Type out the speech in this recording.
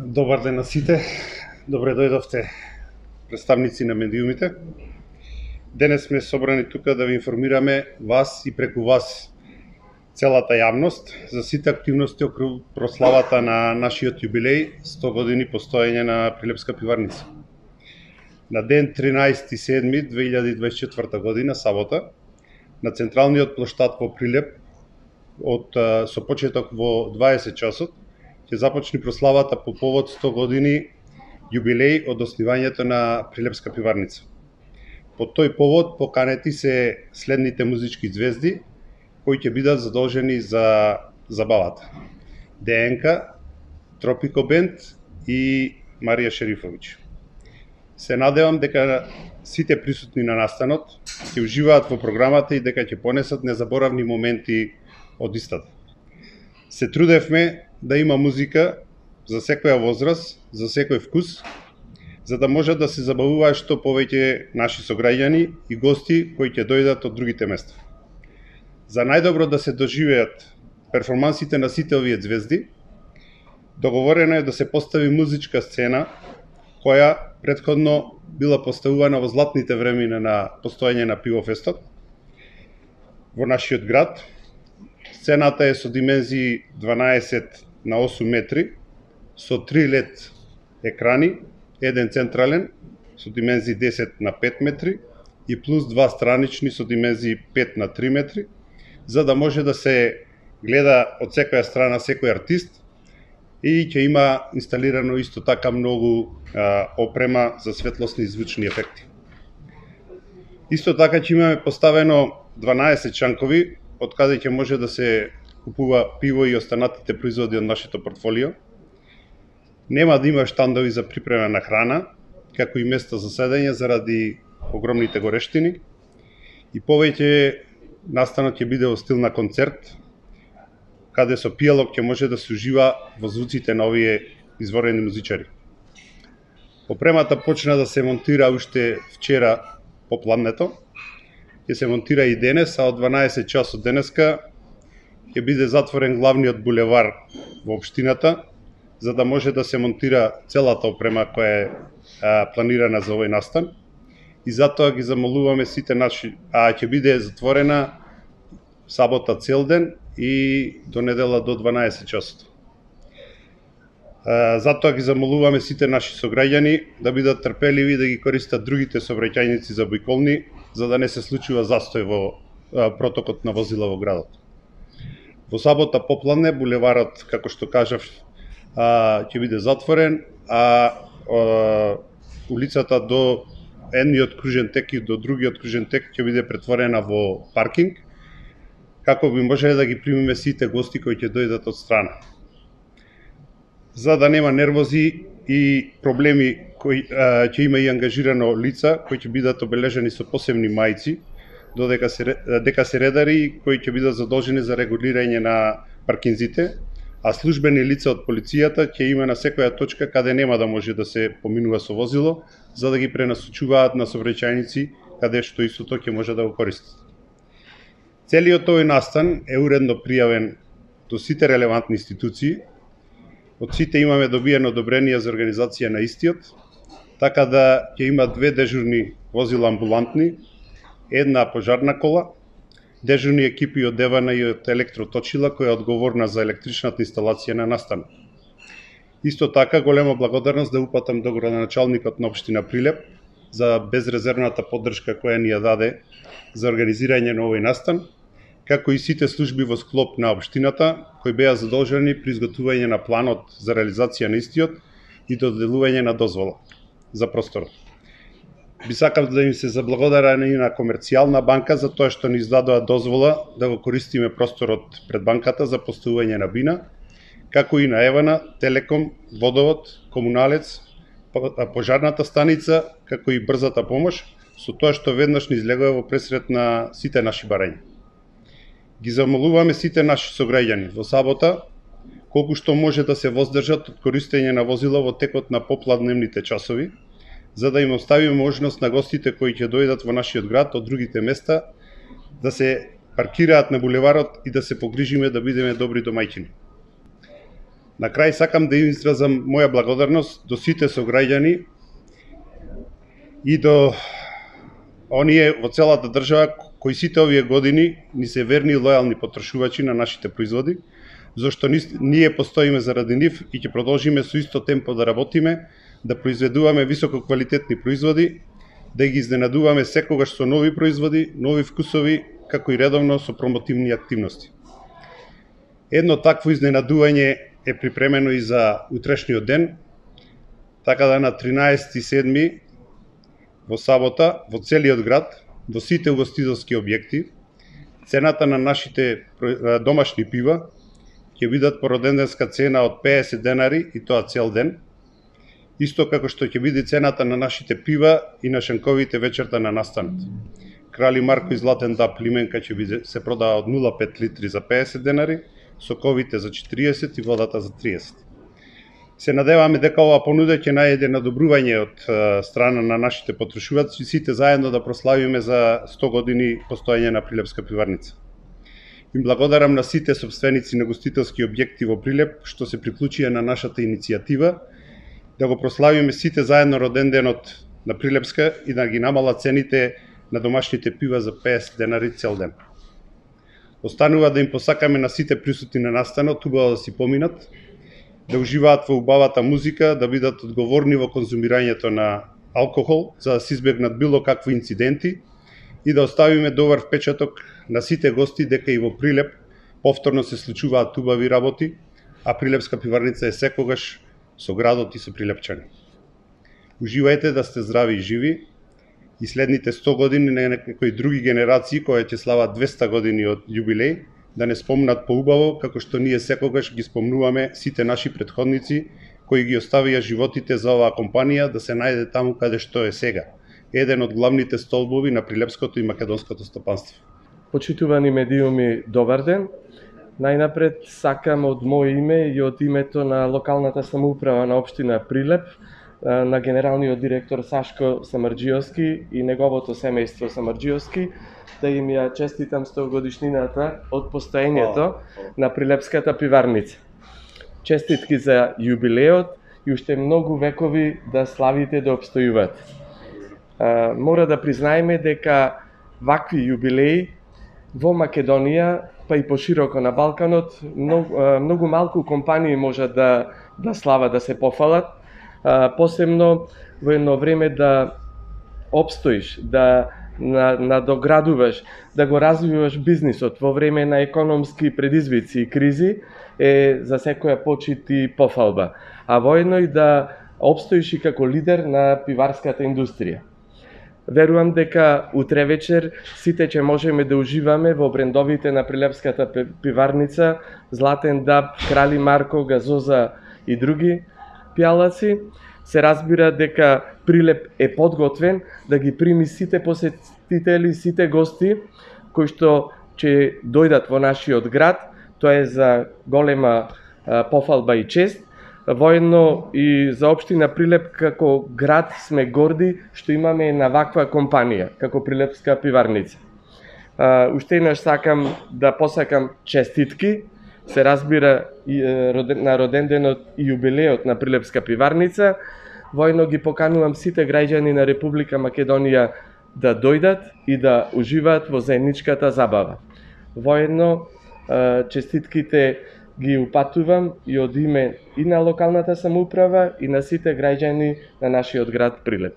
Добар ден на сите. Добре дојдовте представници на медиумите. Денес сме собрани тука да ви информираме вас и преку вас целата јавност за сите активности околу прославата на нашиот јубилеј 100 години постоење на Прилепска пиварница. На ден 13.7.2024 година, сабота, на централниот плоштад во Прилеп со почеток во 20 часот ќе започне прославата по повод 100 години јубилеј од основањето на Прилепска пиварница. По тој повод поканети се следните музички звезди кои ќе бидат задолжени за забавата: ДНК, Тропико бенд и Марија Шерифовиќ. Се надевам дека сите присутни на настанот ќе уживаат во програмата и дека ќе понесат незаборавни моменти од истата. Се трудевме да има музика за секоја возраст, за секој вкус, за да можат да се забавуваат што повеќе наши сограѓани и гости кои ќе дојдат од другите места. За најдобро да се доживеат перформансите на сите овие звезди, договорено е да се постави музичка сцена која претходно била поставувана во златните времена на постоење на Пивофестот во нашиот град. Сцената е со димензии 12x8 метри, со 3 LED екрани, еден централен со димензии 10x5 метри и плюс 2 странични со димензии 5x3 метри, за да може да се гледа од секоја страна секој артист и ќе има инсталирано исто така многу опрема за светлосни и звучни ефекти. Исто така ќе имаме поставено 12 чанкови од каде ќе може да се купува пиво и останатите производи од нашето портфолио. Нема да има штандови за припремена храна, како и места за седење заради огромните горештини. И повеќе настанот ќе биде во стил на концерт, каде со пијалок ќе може да се ужива во звуците на овие изворени музичари. Опремата почна да се монтира уште вчера попладнето, ќе се монтира и денес, а од 12 часот денеска ќе биде затворен главниот булевар во општината, за да може да се монтира целата опрема која е планирана за овој настан. И затоа ги замолуваме сите наши, ќе биде затворена сабота цел ден и до недела до 12 часот. Затоа ги замолуваме сите наши сограѓани да бидат трпеливи, да ги користат другите сообраќајници за обиколни, за да не се случува застој во протокот на возила во градот. Во сабота попладне булеварот, како што кажав, ќе биде затворен, а улицата до едниот кружен тек и до другиот кружен тек ќе биде претворена во паркинг, како би можеле да ги примиме сите гости кои ќе дојдат од страна. За да нема нервози и проблеми, ќе има и ангажирано лица кои ќе бидат обележени со посебни мајци, додека се редари кои ќе бидат задолжени за регулирање на паркинзите, а службени лица од полицијата ќе има на секоја точка каде нема да може да се поминува со возило, за да ги пренасочуваат на сообраќајници каде што истото ќе може да го користат. Целиот овој настан е уредно пријавен до сите релевантни институции. Од сите имаме добиено одобрение за организација на истиот, така да ќе има 2 дежурни возила амбулантни, една пожарна кола, дежурни екипи од ДВН и од електроточила која е одговорна за електричната инсталација на настанот. Исто така голема благодарност да упатам до градоначалникот на општина Прилеп за безрезервната поддршка која ни ја даде за организирање на овој настан, како и сите служби во склоп на општината кои беа задолжени при изготвување на планот за реализација на истиот и доделување на дозвола за просторот. Би сакал да им се заблагодарам и на Комерцијална банка за тоа што ни издадоа дозвола да го користиме просторот пред банката за поставување на бина, како и на Евана, Телеком, Водовод, Комуналец, пожарната станица, како и брзата помош, со тоа што веднаш ни излегува во пресред на сите наши барања. Ги замолуваме сите наши сограѓани во сабота колку што може да се воздржат од користење на возила во текот на попладневните часови, за да им оставиме можност на гостите кои ќе дојдат во нашиот град од другите места да се паркираат на булеварот и да се погрижиме да бидеме добри домаќини. На крај сакам да изразам моја благодарност до сите сограѓани и до оние во целата држава кои сите овие години ни се верни и лојални потрошувачи на нашите производи, зашто ние постоиме заради нив и ќе продолжиме со исто темпо да работиме, да произведуваме високо квалитетни производи, да ги изненадуваме секогаш со нови производи, нови вкусови, како и редовно со промотивни активности. Едно такво изненадување е припремено и за утрешниот ден, така да на 13.7. во сабота во целиот град, во сите угостителски објекти, цената на нашите домашни пива ќе бидат по роденденска цена од 50 денари и тоа цел ден, исто како што ќе биде цената на нашите пива и на шенковите вечерта на настанот. Крали Марко и Златен даб лименка ќе се продава од 0,5 литри за 50 денари, соковите за 40 и водата за 30. Се надеваме дека оваа понуда ќе најде надобрување од страна на нашите потрошувачи, сите заедно да прославиме за 100 години постоење на Прилепска пиварница. Им благодарам на сите собственици на гостителски објекти во Прилеп што се приклучија на нашата иницијатива да го прославиме сите заедно роденденот на Прилепска и да ги намала цените на домашните пива за 50 денари цел ден. Останува да им посакаме на сите присутни на настанот убаво да си поминат, да уживаат во убавата музика, да бидат одговорни во конзумирањето на алкохол, за да се избегнат било какви инциденти и да оставиме добар впечаток на сите гости дека и во Прилеп повторно се случуваат убави работи, а Прилепска пиварница е секогаш со градот и со прилепчани. Уживајте, да сте здрави и живи и следните 100 години на некои други генерации кои ќе слават 200 години од јубилеј, да не спомнат поубаво како што ние секогаш ги спомнуваме сите наши претходници кои ги оставија животите за оваа компанија да се најде таму каде што е сега, еден од главните столбови на прилепското и македонското стопанство. Почитувани медиуми, добар ден. Најнапред сакам од моје име и од името на локалната самоуправа на општина Прилеп, на генералниот директор Сашко Самарџиовски и неговото семејство Самарџиовски, да им ја честитам 100 годишнината од постоењето на Прилепската пиварница. Честитки за јубилеот и уште многу векови да славите да обстојуват. Мора да признаеме дека вакви јубилеи во Македонија, па и пошироко на Балканот, многу малку компании можат да слават, да се пофалат, посебно во едно време да обстоиш, да надоградуваш, да го развиваш бизнисот во време на економски предизвици и кризи е за секоја почит и пофалба, а воедно и да обстоиш и како лидер на пиварската индустрија. Верувам дека утре вечер сите ќе можеме да уживаме во брендовите на Прилепската пиварница, Златен даб, Крали Марко, Газоза и други пијалаци. Се разбира дека Прилеп е подготвен да ги прими сите посетители, сите гости кои што ќе дојдат во нашиот град. Тоа е за голема пофалба и чест. Воедно и за општина Прилеп како град сме горди што имаме на ваква компанија, како Прилепска пиварница. Уште еднаш сакам да посакам честитки, се разбира на роденденот и јубилеот на Прилепска пиварница. Воедно ги поканувам сите граѓани на Република Македонија да дојдат и да уживаат во заедничката забава. Воедно честитките ги упатувам и од име и на локалната самоуправа и на сите граѓани на нашиот град Прилеп.